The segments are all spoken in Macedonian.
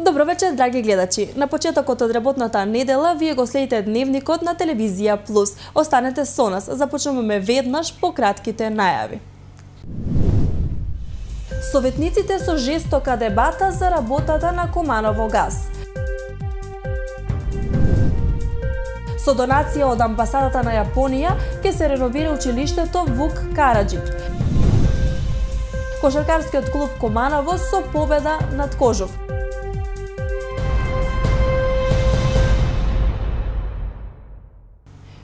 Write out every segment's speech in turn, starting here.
Добро вечер, драги гледачи. На почетокот од работната недела вие го следите дневникот на Телевизија Плюс. Останете со нас, започнуваме веднаш по кратките најави. Советниците со жестока дебата за работата на Куманово газ. Со донација од амбасадата на Јапонија ќе се реновира училиштето Вук Караџич. Кошаркарскиот клуб Куманово со победа над Кожук.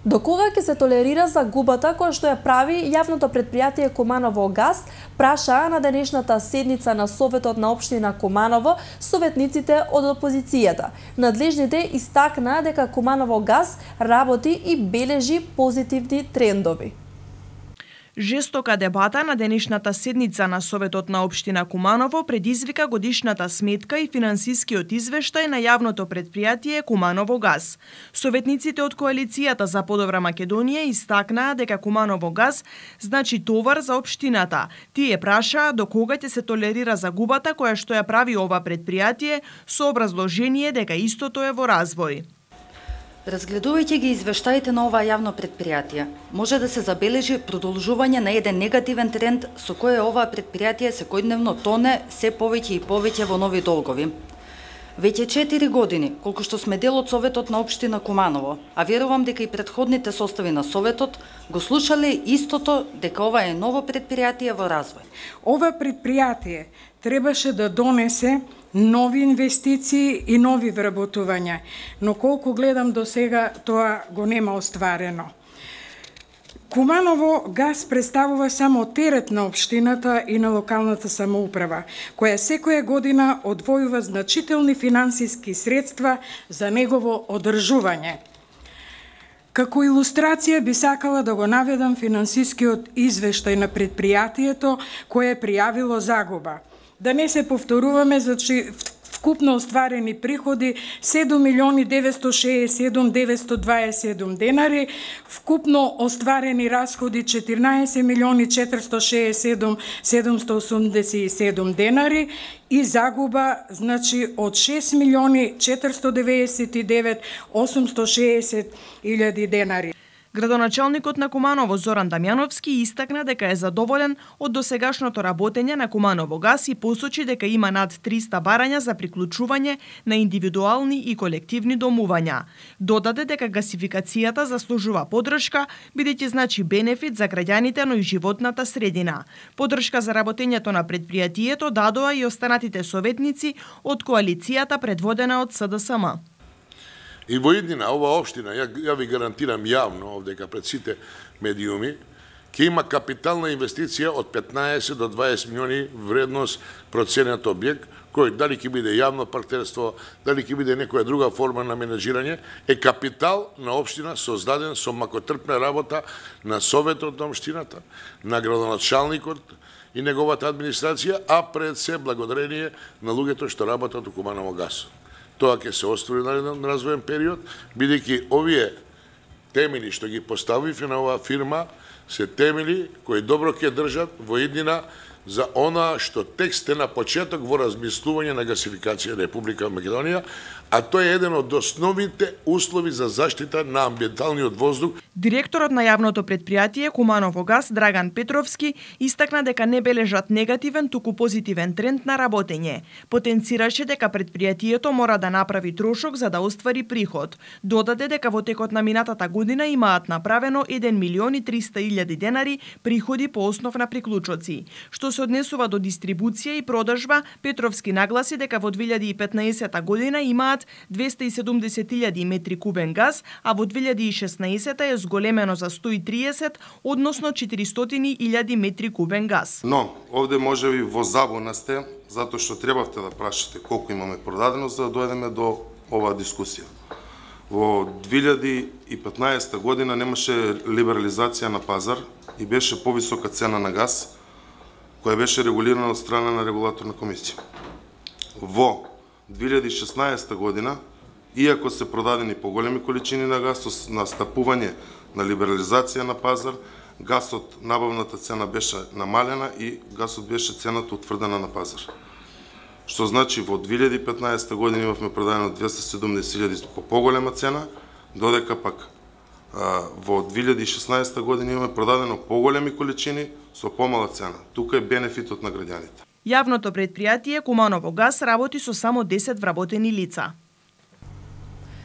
До кога ќе се толерира загубата која што ја прави јавното претпријатие Куманово газ, прашаа на денешната седница на Советот на општина Куманово советниците од опозицијата. Надлежните истакнаа дека Куманово газ работи и бележи позитивни трендови. Жестока дебата на денешната седница на Советот на општина Куманово предизвика годишната сметка и финансискиот извештај на јавното претпријатие Куманово газ. Советниците од коалицијата за подобра Македонија истакнаа дека Куманово газ значи товар за општината. Тие прашаа до кога ќе се толерира загубата која што ја прави ова претпријатие со образложение дека истото е во развој. Разгледувајќи ги извештаите на ова јавно претпријатие, може да се забележи продолжување на еден негативен тренд со кој ова претпријатие секојдневно тоне се повеќе и повеќе во нови долгови. Веќе 4 години, колку што сме дел од Советот на општина Куманово, а верувам дека и претходните состави на Советот го слушале истото дека ова е ново претпријатие во развој. Ова претпријатие требаше да донесе нови инвестиции и нови вработувања, но колку гледам до сега тоа го нема остварено. Куманово газ представува само терет на општината и на локалната самоуправа, која секоја година одвојува значителни финансиски средства за негово одржување. Како илустрација би сакала да го наведам финансискиот извештај на претпријатието кое е пријавило загуба. Да не се повторуваме, значи вкупно остварени приходи 7.967.927 денари, вкупно остварени расходи 14.467.787 денари и загуба значи од 6.499.860 денари. Градоначалникот на Куманово Зоран Дамјановски истакна дека е задоволен од досегашното работење на Куманово газ и посочи дека има над 300 барања за приклучување на индивидуални и колективни домувања. Додаде дека гасификацијата заслужува поддршка, бидејќи значи бенефит за граѓаните, но и животната средина. Поддршка за работењето на претпријатието дадоа и останатите советници од коалицијата предводена од СДСМ. И во иднина, ова општина, ја ви гарантирам јавно овдека пред сите медиуми, ќе има капитална инвестиција од 15 до 20 милиони вредност проценет објект, кој дали ќе биде јавно партнерство, дали ќе биде некоја друга форма на менеджирање, е капитал на општина создаден со макотрпна работа на Советот на општината, на градоначалникот и неговата администрација, а пред се благодарение на луѓето што работат во Куманово газ. Тоа ќе се оствари на еден развоен период, бидејќи овие темели што ги поставивме на оваа фирма се темели кои добро ќе држат во иднина за она што текст е на почеток во размислување на гасификација Република Македонија, а тоа е еден од основните услови за заштита на амбиенталниот воздух. Директорот на јавното претпријатие Куманово газ Драган Петровски истакна дека не бележат негативен, туку позитивен тренд на работење. Потенцираше дека претпријатието мора да направи трошок за да оствари приход. Додаде дека во текот на минатата година имаат направено 1.300.000 денари приходи по основ на приклучоци. Што се однесува до дистрибуција и продажба, Петровски нагласи дека во 2015 година имаат 270.000 метри кубен газ, а во 2016 е зголемено за 130, односно 400.000 метри кубен газ. Но, овде можеби во забуна сте, затоа што требавте да прашате колку имаме продадено за да дојдеме до оваа дискусија. Во 2015 година немаше либерализација на пазар и беше повисока цена на газ, која беше регулирана од страна на регулаторна комисија. Во 2016 година, иако се продадени поголеми количини на газ, со настапување на либерализација на пазар, газот, набавната цена беше намалена и газот беше цената утврдена на пазар. што значи во 2015 година имавме продадено 270.000 по поголема цена, додека пак во 2016 година имаме продадено поголеми количини со помала цена. Тука е бенефитот на граѓаните. Јавното претпријатие Куманово газ работи со само 10 вработени лица.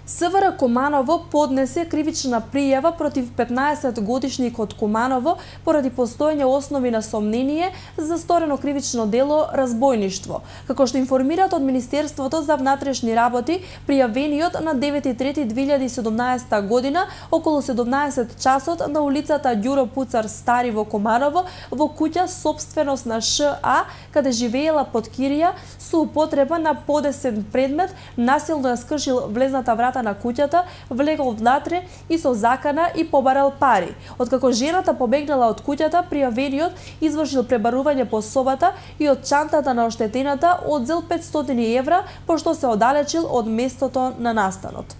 СВР Куманово поднесе кривична пријава против 15-годишникот Куманово поради постоење основи на сомнение за сторено кривично дело разбојништво. Како што информираат од Министерството за внатрешни работи, пријавениот на 9.3.2017 година околу 17 часот на улицата Ѓуро Пуцар Стари во Куманово во куќа собственост на ША, каде живеела под кирија, со употреба на подесен предмет, насилно ја скршил влезната врата на куќата, влегол внатре и со закана и побарал пари. Откако жената побегнала од куќата, пријавениот извршил пребарување по собата и од чантата на оштетената одзел 500 евра, пошто се оддалечил од местото на настанот.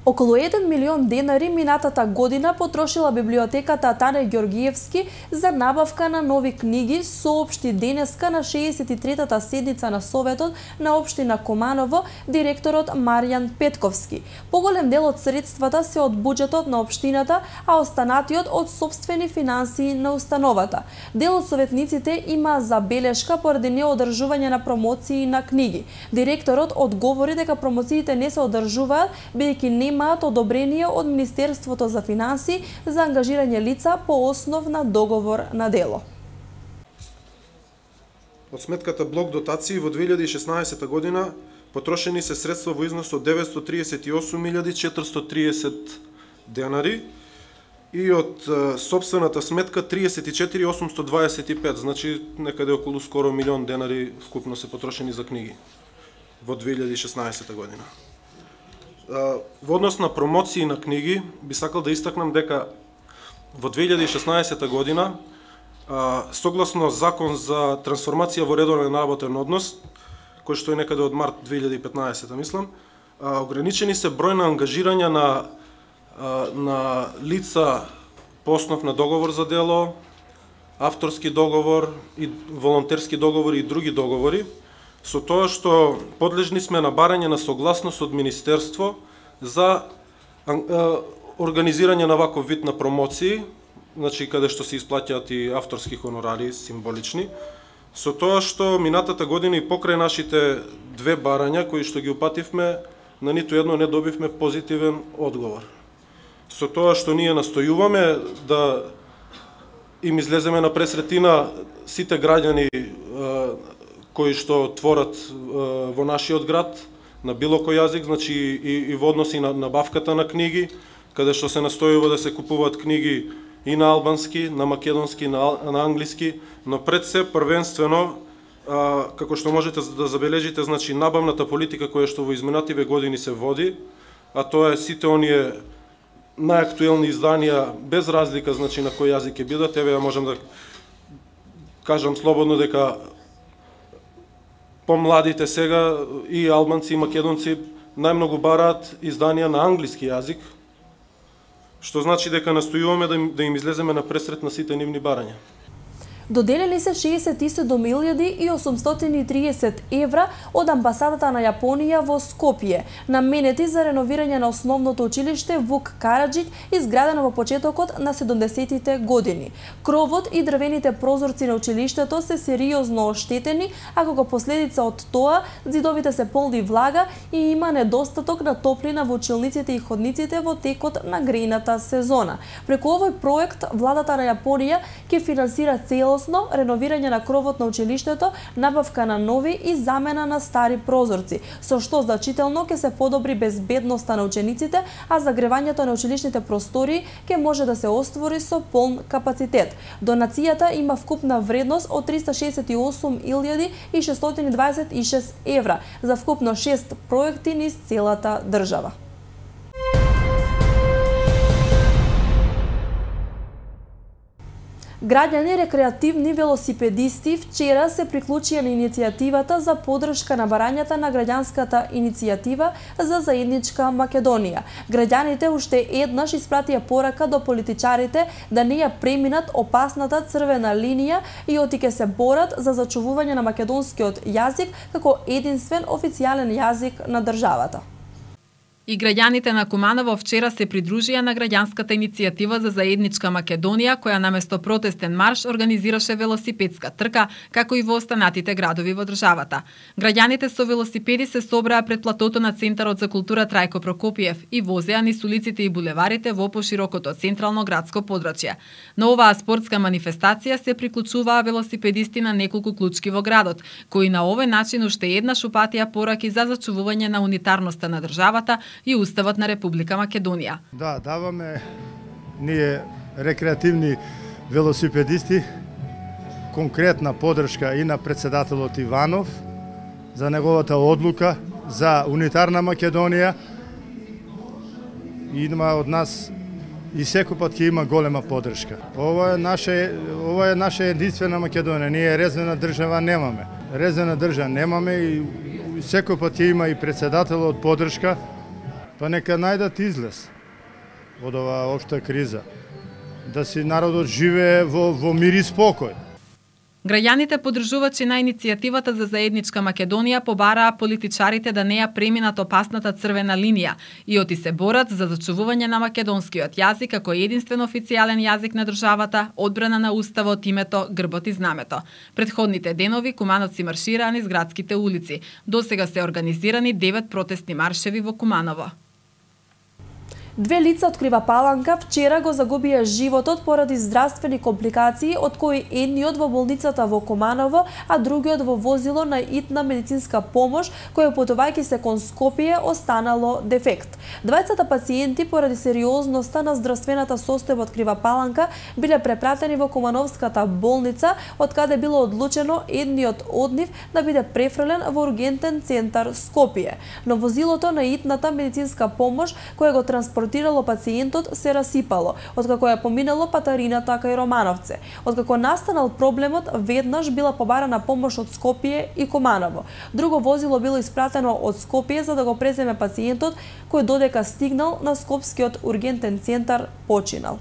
Околу 1 милион денари минатата година потрошила библиотеката Тане Ѓоргиевски за набавка на нови книги, соопшти денеска на 63-та седница на Советот на општина Куманово директорот Маријан Петковски. Поголем дел од средствата се од буџетот на општината, а останатиот од сопствени финансии на установата. Дел од советниците има забелешка поради неодржување на промоции на книги. Директорот одговори дека промоциите не се одржуваат бидејќи немаат одобрение од Министерството за финансии за ангажирање лица по основ на договор на дело. Од сметката блок дотации во 2016 година потрошени се средства во износ од 938.430 денари и од сопствената сметка 34.825, значи некаде околу скоро милион денари вкупно се потрошени за книги во 2016 година. Во однос на промоции на книги, би сакал да истакнам дека во 2016 година, согласно Закон за трансформација во редовен работен однос, кој што е некаде од март 2015, мислам, ограничени се број на ангажирања на лица по основ на договор за дело, авторски договор и волонтерски договори и други договори, со тоа што подлежни сме на барање на согласност од Министерство за организирање на ваков вид на промоции, значи каде што се исплаќаат и авторски хонорари символични, со тоа што минатата година и покрај нашите две барања кои што ги упативме, на ниту едно не добивме позитивен одговор. Со тоа што ние настојуваме да им излеземе на пресретина сите граѓани кои што творат во нашиот град на било кој јазик, значи и во односи на набавката на книги, каде што се настојува да се купуваат книги и на албански, на македонски, на англиски, но пред се првенствено, како што можете да забележите, значи набавната политика која што во изминативе години се води, а тоа е сите оние најактуелни изданија без разлика, значи на кој јазик ќе бидат. Еве ја можам да кажам слободно дека помладите сега и албанци и македонци најмногу бараат изданија на англиски јазик, што значи дека настојуваме да им излеземе на пресрет на сите нивни барања. Доделени се 67.830 евра од амбасадата на Јапонија во Скопје, наменети за реновирање на основното училиште Вук Караџиќ, изградено во почетокот на 70-тите години. Кровот и дрвените прозорци на училиштето се сериозно оштетени, а како последица од тоа, зидовите се полни влага и има недостаток на топлина во училниците и ходниците во текот на грејната сезона. Преку овој проект, владата на Јапонија ќе финансира целосно реновирање на кровот на училиштето, набавка на нови и замена на стари прозорци, со што значително ќе се подобри безбедноста на учениците, а загревањето на училишните простории ќе може да се оствори со полн капацитет. Донацијата има вкупна вредност од 368.626 евра за вкупно 6 проекти низ целата држава. Граѓани рекреативни велосипедисти вчера се приклучија на иницијативата за поддршка на барањата на граѓанската иницијатива за заедничка Македонија. Граѓаните уште еднаш испратија порака до политичарите да не ја преминат опасната црвена линија и оти ќе се борат за зачувување на македонскиот јазик како единствен официјален јазик на државата. И граѓаните на Куманово вчера се придружија на граѓанската иницијатива за заедничка Македонија, која наместо протестен марш организираше велосипедска трка, како и во останатите градови во државата. Граѓаните со велосипеди се собраа пред платото на Центарот за култура Трајко Прокопиев и возеа низ улиците и булеварите во поширокото централно градско подрачје. На оваа спортска манифестација се приклучуваа велосипедисти на неколку клучки во градот, кои на овој начин уште еднаш упатија пораки за зачувување на унитарноста на државата и Уставот на Република Македонија. Да, даваме ние рекреативни велосипедисти конкретна поддршка и на председателот Иванов за неговата одлука за унитарна Македонија. Има од нас и секој пат ќе има голема поддршка. Ова е наша единствена Македонија. Ние резервна држава немаме. Резервна држава немаме и секој пат ќе има и председателот поддршка. Па нека најдат излез од оваа општа криза, да си народот живее во мир и спокој. Граѓаните поддржувачи на иницијативата за заедничка Македонија побараа политичарите да не ја преминат опасната црвена линија и оти се борат за зачувување на македонскиот јазик како единствен официјален јазик на државата, одбрана на уставот, името, грбот и знамето. Предходните денови кумановци маршираа низ градските улици. Досега се организирани 9 протестни маршеви во Куманово. Две лица од Крива Паланка вчера го загубија животот поради здравствени компликации, од кои едниот во болницата во Куманово, а другиот во возило на итна медицинска помош, кој патувајќи се кон Скопје останало дефект. Двајцата пациенти поради сериозноста на здравствената состојба од Крива Паланка биле препратени во Кумановската болница, од каде било одлучено едниот од нив да биде префрлен во ургентен центар Скопје. Но возилото на итната медицинска помош која го транспортирало пациентот се расипало, откако ја поминало патарината кај Романовце. Откако настанал проблемот, веднаш била побарана помош од Скопје и Куманово. Друго возило било испратено од Скопје за да го преземе пациентот, кој додека стигнал на Скопскиот ургентен центар починал.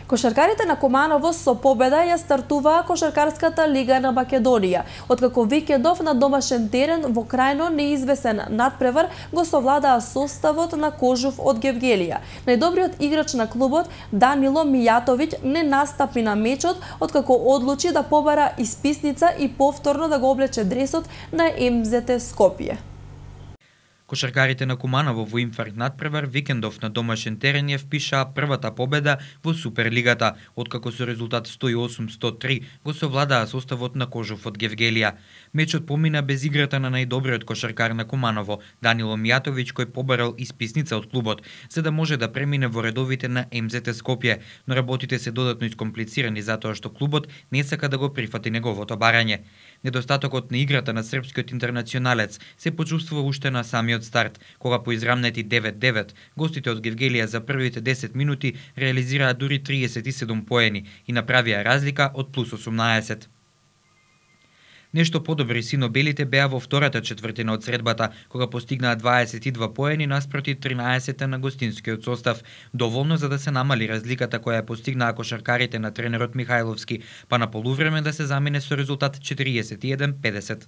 Кошаркарите на Куманово со победа ја стартуваа Кошаркарската лига на Македонија, откако викендов на домашен терен во крајно неизвесен надпревар го совладаа составот на Кожув од Гевгелија. Најдобриот играч на клубот Данило Мијатовиќ не настапи на мечот, откако одлучи да побара исписница и повторно да го облече дресот на МЗТ Скопје. Кошаркарите на Куманово во инфаркт надпревар викендов на домашен терен ја впишаа првата победа во Суперлигата, откако со резултат 108-103 го совладаа составот на Кожув од Гевгелија. Мечот помина без играта на најдобриот кошаркар на Куманово, Данило Мијатовиќ, кој побарал исписница од клубот, за да може да премине во редовите на МЗТ Скопје, но работите се додатно искомплицирани затоа што клубот не сака да го прифати неговото барање. Недостатокот на играта на српскиот интернационалец се почувствува уште на самиот старт, кога по израмнети 9-9, гостите од Гевгелија за првите 10 минути реализираа дури 37 поени и направија разлика од плюс 18. Нешто подобри сино-белите беа во втората четвртина од средбата, кога постигнаа 22 поени наспроти 13 на гостинскиот состав, доволно за да се намали разликата која ја постигнаа кошаркарите на тренерот Михајловски, па на полувреме да се замине со резултат 41-50.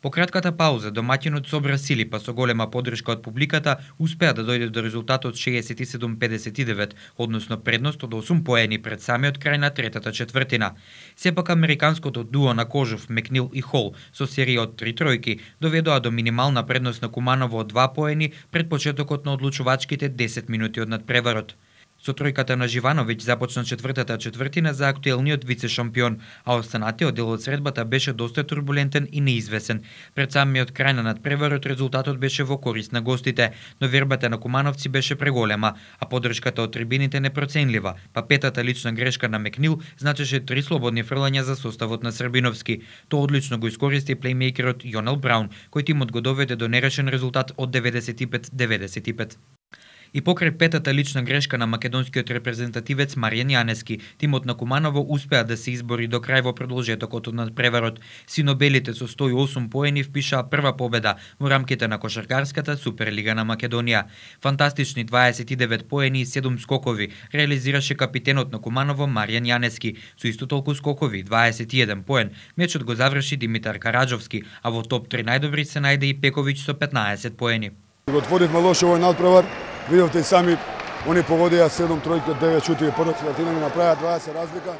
По кратката пауза, домаќинот собра сили, па со голема поддршка од публиката успеа да дојде до резултатот 67-59, односно предност од 8 поени пред самиот крај на третата четвртина. Сепак американското дуо на Кожув, Мекнил и Хол, со серија од 3 тројки, доведоа до минимална предност на Куманово од 2 поени пред почетокот на одлучувачките 10 минути од надпреварот. Со тројката на Живановиќ започна четвртата четвртина за актуелниот вице-шампион, а останатиот дел од средбата беше доста турбулентен и неизвесен. Пред самиот крај на надпреварот резултатот беше во корист на гостите, но вербата на кумановци беше преголема, а поддршката од трибините непроценлива, па петата лична грешка на Мекнил значеше 3 слободни фрлања за составот на Србиновски. Тоа одлично го искористи плеймејкерот Јонел Браун, кој тимот го доведе до нерешен резултат од 95-95. И покрај петата лична грешка на македонскиот репрезентативец Маријан Јанески, тимот на Куманово успеа да се избори до крај во продолжетокот од надпреварот. Синобелите со 108 поени впишаа прва победа во рамките на кошаркарската Суперлига на Македонија. Фантастични 29 поени и 7 скокови реализираше капитенот на Куманово Маријан Јанески, со исто толку скокови 21 поен. Мечот го заврши Димитар Караджовски, а во топ 3 најдобри се најде и Пековиќ со 15 поени. Го отворивме лошо овој надпревар. Видовте и сами, они погодија 7 тројки од 9 шути, прва четвртина ми направија 20 разлика,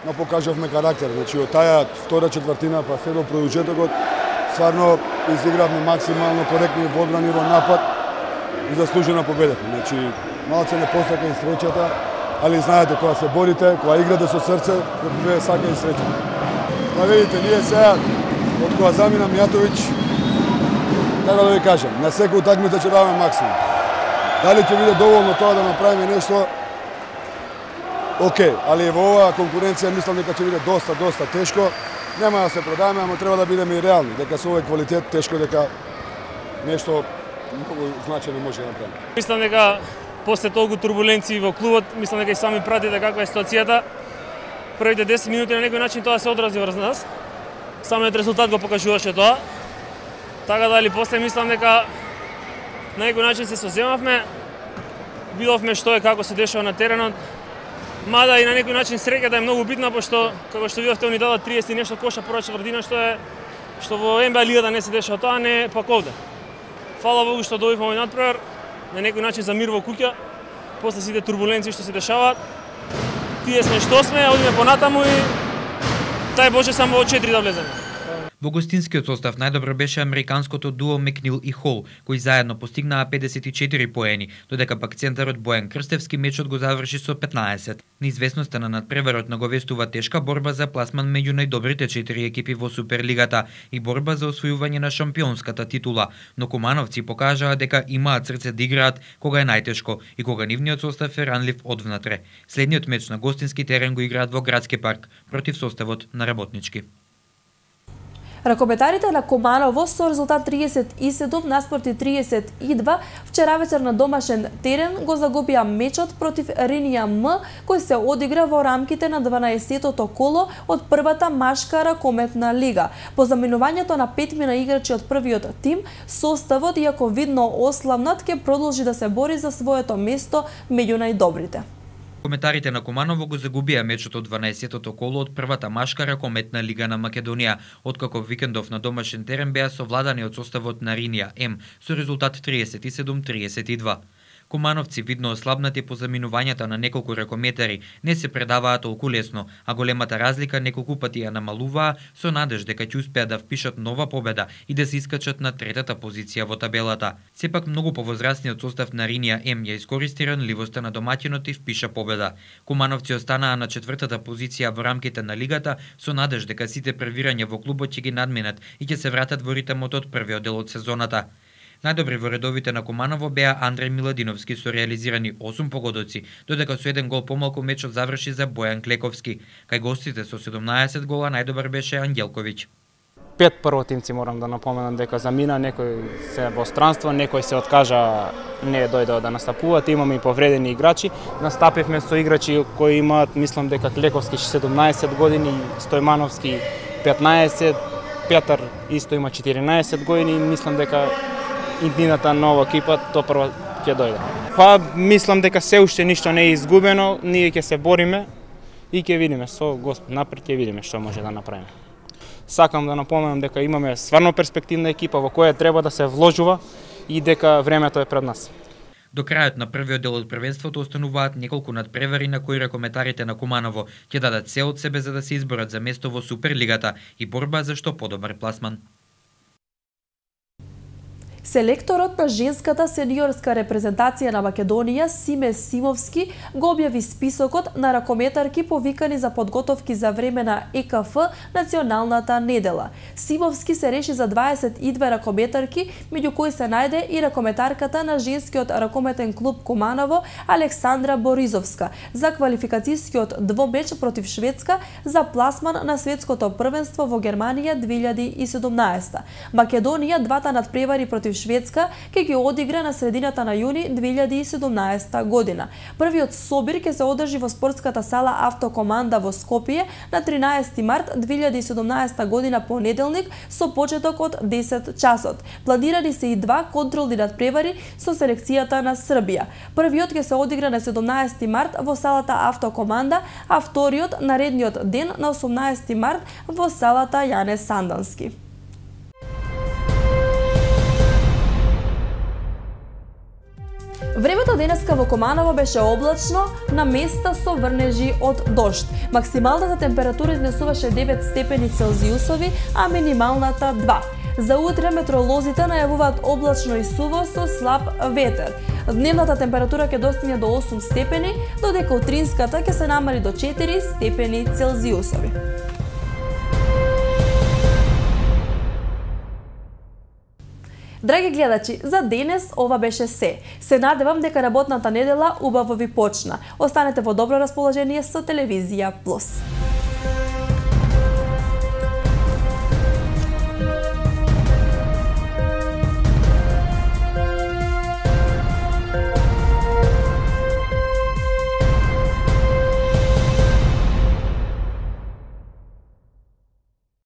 но покажавме карактер. Значи, од таја втора четвртина па се до продолжетокот, стварно изигравме максимално коректни во одбрана и во напад и заслужена победа. Значи, малце не посака и среќата, али знаете, кога се борите, кога играте со срце, вие сака и среќа. Па видите, ние сега, од кога замина Мијатовиќ, така да ви кажам, на секој утакмица ќе даваме максимум. Дали ќе биде доволно тоа да направиме нешто? Океј, али во оваа конкуренција мислам дека ќе биде доста тешко. Нема да се продаваме, ама треба да бидеме и реални, дека со овој квалитет тешко дека нешто многу значајно може да направиме. Мислам дека после толку турбуленции во клубот, мислам дека и сами пратите каква е ситуацијата. Првите 10 минути на некој начин тоа се одрази врз нас. Самиот резултат го покажуваше тоа. Така дали после мислам дека на некој начин се соземавме, видовме што е како се дешава на теренот, мада и на некој начин среќата е многу битна, пошто, како што видовте, они дадат 30 и нешто коша прва четвртина, што во НБА лигата не се дешава тоа, не пак овде. Фала Богу што добивме овој надпревар, на некој начин за мир во куќа, после сите турбуленции што се дешаваат. Тие сме што сме, одиме понатаму и тај Боже само во 4 да влеземе. Во гостинскиот состав најдобро беше американското дуо Мекнил и Хол, кои заедно постигнаа 54 поени, додека пак центарот Бојан Крстевски мечот го заврши со 15. Неизвестноста на надпреварот наговестува тешка борба за пласман меѓу најдобрите 4 екипи во Суперлигата и борба за освојување на шампионската титула, но кумановци покажаа дека имаат срце да играат кога е најтешко и кога нивниот состав е ранлив одвнатре. Следниот меч на гостински терен го играат во Градски парк против составот на Работнички. Ракометарите на Куманово со резултат 37 наспроти 32 вчера вечер на домашен терен го загубија мечот против Ринија М, кој се одигра во рамките на 12-тото коло од првата машка ракометна лига. По заминувањето на 5 мина играчи од првиот тим, составот, иако видно ослабнат, ќе продолжи да се бори за своето место меѓу најдобрите. Коментарите на Куманово го загубија мечот од 12-тото коло од првата машка ракометна лига на Македонија, откако викендов на домашен терен беа совладани од составот на Ринија М со резултат 37-32. Кумановци, видно ослабнати по заминувањата на неколку ракометари, не се предаваат толку лесно, а големата разлика неколку пати ја намалуваа со надеж дека ќе успеат да впишат нова победа и да се искачат на третата позиција во табелата. Сепак многу повозрасниот состав на Ринија М ја искористи ранливоста на домаќинот и впиша победа. Кумановци останаа на четвртата позиција во рамките на лигата со надеж дека сите превирања во клубот ќе ги надминат и ќе се вратат во ритмот од првиот дел од сезоната. Најдобри во редовите на Куманово беа Андреј Миладиновски со реализирани 8 погодоци, додека со еден гол помалку мечот заврши за Бојан Клековски. Кај гостите со 17 гола најдобар беше Ангелковиќ. 5 првотимци морам да напоменам дека замина, некој се во странство, некој се откажа, не дојдоа да настапуваат, имаме и повредени играчи. Настапивме со играчи кои имаат, мислам дека Клековски 17 години, Стојмановски 15, Петар исто има 14 години, мислам дека иднината нова екипа тоа прва ќе дојде. Па мислам дека се уште ништо не е изгубено, ние ќе се бориме и ќе видиме со Господ напред, ќе видиме што може да направиме. Сакам да напоменам дека имаме стварно перспективна екипа во која треба да се вложува и дека времето е пред нас. До крајот на првиот дел од првенството остануваат неколку надпревари на кои ракометарите на Куманово ќе дадат се од себе за да се изборат за место во Суперлигата и борба за што подобар пласман. Селекторот на женската сениорска репрезентација на Македонија Симе Симовски го објави списокот на ракометарки повикани за подготовки за време на ЕКФ националната недела. Симовски се реши за 22 ракометарки, меѓу кои се најде и ракометарката на женскиот ракометен клуб Куманово Александра Боризовска за квалификацијскиот двомеч против Шведска за пласман на светското првенство во Германија 2017. Македонија двата надпревари против Шведска ќе ги одигра на средината на јуни 2017 година. Првиот собир ќе се одржи во спортската сала Автокоманда во Скопје на 13 март 2017 година понеделник со почеток од 10 часот. Планирани се и два контролни надпревари со селекцијата на Србија. Првиот ќе се одигра на 17 март во салата Автокоманда, а вториот наредниот ден на 18 март во салата Јане Сандански. Времето денеска во Куманово беше облачно, на места со врнежи од дожд. Максималната температура изнесуваше 9 степени Целзиусови, а минималната 2. За утре метеоролозите најавуваат облачно и суво со слаб ветер. Дневната температура ќе достигне до 8 степени, додека утринската ќе се намали до 4 степени Целзиусови. Драги гледачи, за денес ова беше се. Се надевам дека работната недела убаво ви почна. Останете во добро расположение со Телевизија Плюс.